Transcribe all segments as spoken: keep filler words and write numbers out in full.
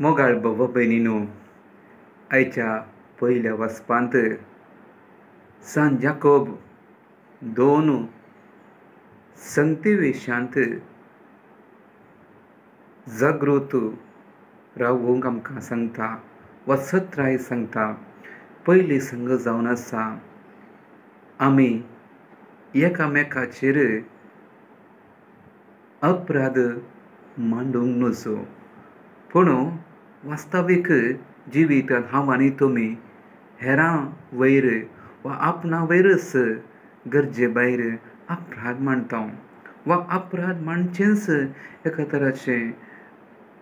मोगाळ भाव भयणीनो, आयच्या पयल्या वाचपांत सांत जाकोब दोन संगतीवेशांत जागृत रावूंक आमकां सांगता वा सत्राय सांगता. पयली संग जावन आसा आमी एकामेकाचेर अपराध मांडूंक नजो, पूण वास्तवीक जिवितांत हांव आनी तुमी हेरां वयर वा आपणा वयरच गरजे भायर अपराध मांडटा वा अपराध मांडचेंच एका तराचें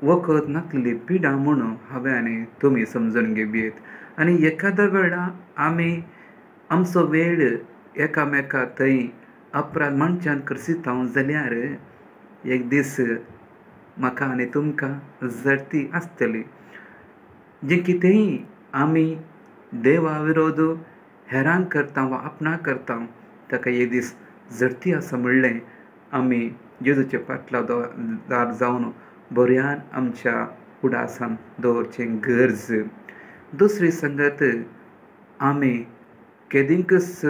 वखद नासलेली पिडा म्हणून हांवें आनी तुमी समजून घेवयेत. आनी एखाद्या वेळा आमी आमचो वेळ एकामेका थंय अपराध मांडच्यान खर्चिता जाल्यार एक दीस म्हाका आनी तुमकां जडती आसतली. जें कितेंय आमी देवा विरोध हेरांक करता वा आपणाक करता ताका एक दीस जडती आसा म्हणलें आमी जेजूचे पाटला दार जावन बऱ्यान आमच्या उडासान दवरचें गरज. दुसरी संगत, आमी केदींकच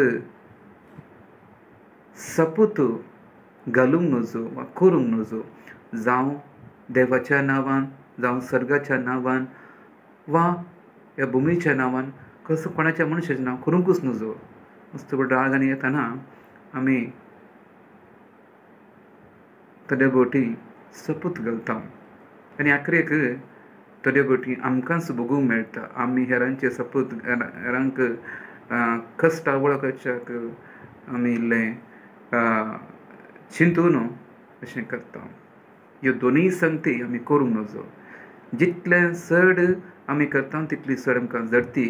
सपूत घालूंक नजो वा करूंक नजो, जावं देवाच्या नांवान, जावं सर्गाच्या नांवान वा ह्या भुमीच्या नांवान, कसो कोणाच्या मनशाचें नांव करूंकच नजो. मस्त राग आनी येताना आमी थोडे बोटी सपूत घालता आनी आखरेक थोडे बोटी आमकांच भोगूंक मेळटा. आमी हेरांचे सपूत हेरांक कश्टां वळखच्याक आमी इल्लें चिंतून अशें करता. ह्यो दोनूय संगती आमी करूंक नजो. जितलें चड आमी करता तितली चड आमकां जडती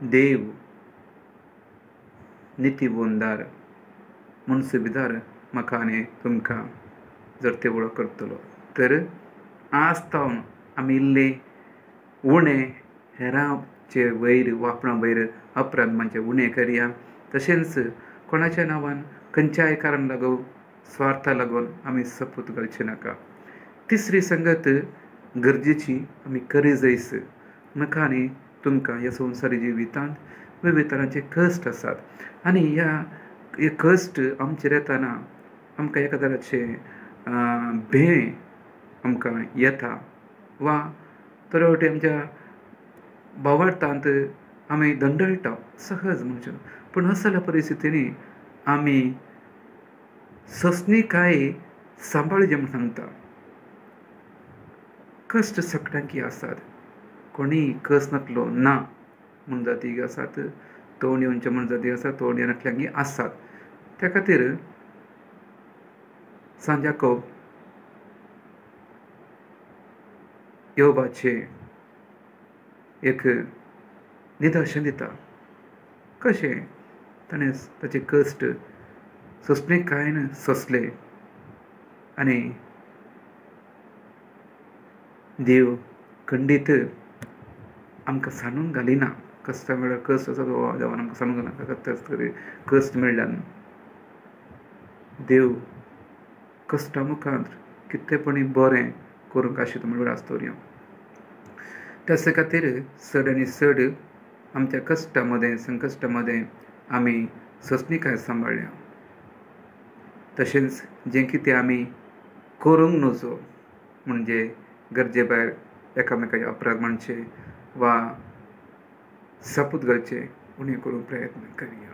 देव नितीवंदार मुनसुबीदार म्हाका आनी तुमकां जडते वळख करतलो. तर आज तावन आमी इल्ले उणें हेरांचे वयर वा आपणा वयर अपराध मानचे उणें करया. तशेंच कोणाच्या नांवान खंयच्याय कारण लागून स्वार्था लागून आमी सपूत घालचे नाका. तिसरी संगत गरजेची आमी करी जायस. म्हाका आनी तुमकां ह्या संवसारी जिवितांत वेगवेगळे तरांचे कश्ट आसात आनी ह्या हे कश्ट आमचेर येताना आमकां एका तराचें भें आमकां येता वा थोडे फावटी आमच्या भावार्थांत आमी दंडळटा सहज म्हणचे. पूण असल्या परिस्थितींनी आमी सोंसणीकाय सांबाळचें म्हूण सांगता. कश्ट सगळ्यांकी आसात, कोणीय कश्ट नासलो ना म्हूण जाती आसात, तोंड येवचे म्हूण जाती आसात, तोंड येनासल्यांकी आसात. त्या खातीर सांत जाकोब योबाचें एक निदर्शन दिता. कशें ताणें ताचे कश्ट सोंसणीकायेन सोंसले आनी देव खंडीत आमकां सांडून घालिना. कश्टां वेळार कश्ट आसा तो देवान आमकां सांडून घालना. कश्ट मेळ्ळ्यान देव कश्टां मुखार कितलेपणी बरें करूंक आशिल्लें म्हणल्यार आसतोरया. त्याच खातीर चड आनी चड आमच्या कश्टां मदें संकश्टां मदें आमी सोंसणीकाय सांबाळया. तशेंच जें कितें आमी करूंक नजो म्हणजे गरजे भायर एकामेकाचे अपराध मांडचे वा सपूत घालचे उणें करूंक प्रयत्न करया.